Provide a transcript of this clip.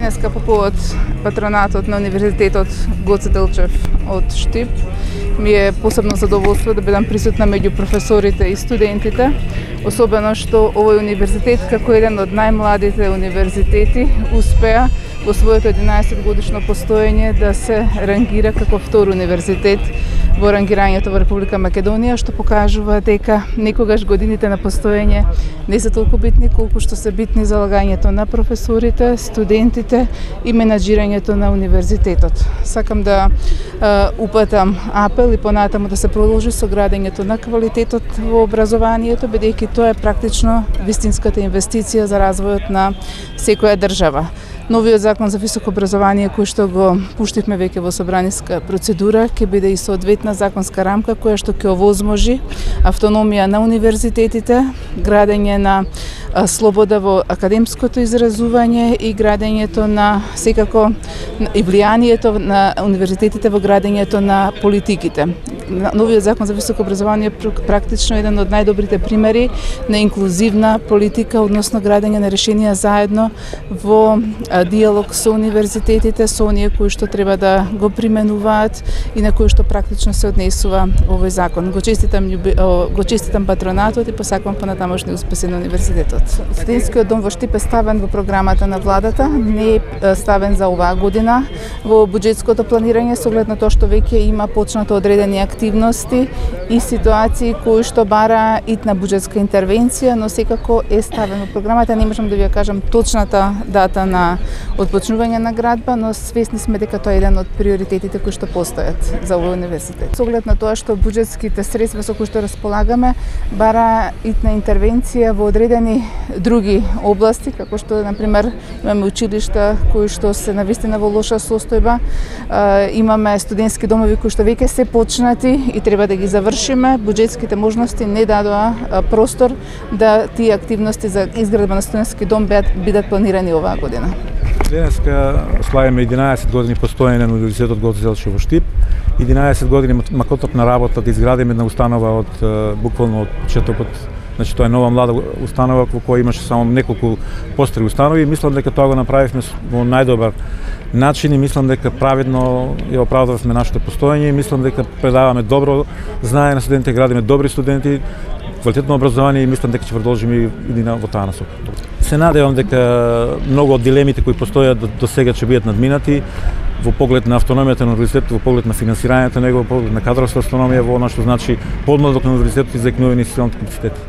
денеска по повод патронатот на Универзитетот Гоце Делчев од Штип. Ми е посебно задоволство да бидам присутна меѓу професорите и студентите, особено што овој универзитет како еден од најмладите универзитети успеа во своето 11-годишно постоење да се рангира како втор универзитет во рангирањето во Република Македонија, што покажува дека некогаш годините на постоење не се толку битни колку што се битни залагањето на професорите, студентите и менаџирањето на универзитетот. Сакам да упатам апел и понатаму да се продолжи со градењето на квалитетот во образованието, бидејќи тоа е практично вистинската инвестиција за развојот на секоја држава. Новиот закон за високо образование кој што го пуштивме веќе во собраниска процедура ќе биде и соодветна законска рамка која што ќе овозможи автономија на универзитетите, градење на слобода во академското изразување и градењето на секако и влијанието на универзитетите во градењето на политиките. Новиот закон за високо образование е практично еден од најдобрите примери на инклузивна политика, односно градење на решенија заедно во диалог со универзитетите, со оние кои што треба да го применуваат и на кои што практично се однесува овој закон. Го честитам патронатот и посакувам понатамошни успеси на универзитетот. Студентскиот дом во Штип е ставен во програмата на владата, не е ставен за оваа година во буџетското планирање, со оглед на тоа што веќе има почнато одредени активности и ситуации кои што бара итна буџетска интервенција, но секако е ставен во програмата. Не можам да ви ја кажам точната дата на отпочнување на градба, но свесни сме дека тоа е еден од приоритетите кои што постојат за овој универзитет. Со оглед на тоа што буџетските средства со кои што располагаме бара итна интервенција во одредени други области, како што на пример имаме училишта кои што се навистина во лоша состојба, имаме студентски домови кои што веќе се почнати и треба да ги завршиме. Буџетските можности не дадоа простор да тие активности за изградба на студентски дом бидат планирани оваа година. Денеска славиме 11 години постоење на Универзитетот Гоце Делчев во Штип. 11 години макотопна работа да изградиме една установа од буквално од почетокот. Значи тоа е нова млада установа во која имаше само неколку постари установи. Мислам дека тоа го направивме во најдобар начин и мислам дека праведно ја оправдавме нашето постоење и мислам дека предаваме добро знаење на студентите, градиме добри студенти, квалитетно образование и мислам дека ќе продолжиме и во таа насока. Се надевам дека многу од дилемите кои постојат до сега ќе бидат надминати во поглед на автономијата на универзитетот, во поглед на финансирањето на него, во поглед на кадровска автономија, во она што значи подмладок на универзитетот и за екнувени институционални капацитети.